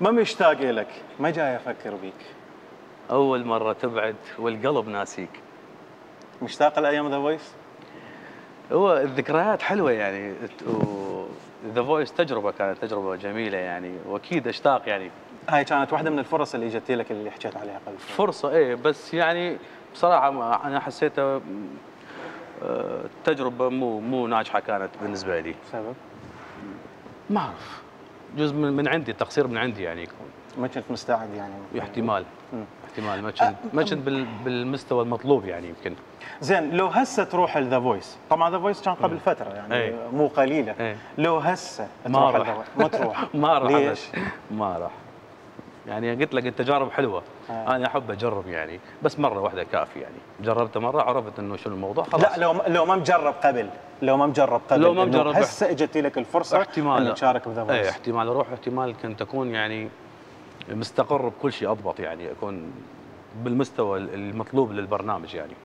ما مشتاق لك، ما جاي افكر بيك. اول مره تبعد والقلب ناسيك. مشتاق لايام ذا فويس؟ هو الذكريات حلوه يعني، ذا فويس تجربه، كانت تجربه جميله يعني، واكيد اشتاق يعني. هاي كانت واحده من الفرص اللي اجت لك اللي حكيت عليها قبل شوي. فرصه ايه، بس يعني بصراحه انا حسيتها تجربه مو ناجحه كانت بالنسبه لي. سبب؟ ما اعرف، جزء من عندي، تقصير من عندي يعني يكون. ما كنت مستعد يعني؟ احتمال. احتمال ما كنت بالمستوى المطلوب يعني يمكن. زين، لو هسه تروح لذا فويس، طبعا ذا فويس كان قبل فتره يعني مو قليله. لو هسه ما تروح راح. ما تروح. ما راح. ليش؟ ما راح. يعني قلت لك التجارب حلوه. انا احب اجرب يعني، بس مره واحده كافي يعني. جربت مره عرفت انه شنو الموضوع خلاص. لا، لو ما مجرب قبل، لو ما مجرب هسه اجت لك الفرصه احتمال تشارك بذا فويس. احتمال اروح، احتمال كنت اكون يعني مستقر بكل شيء اضبط يعني، اكون بالمستوى المطلوب للبرنامج يعني.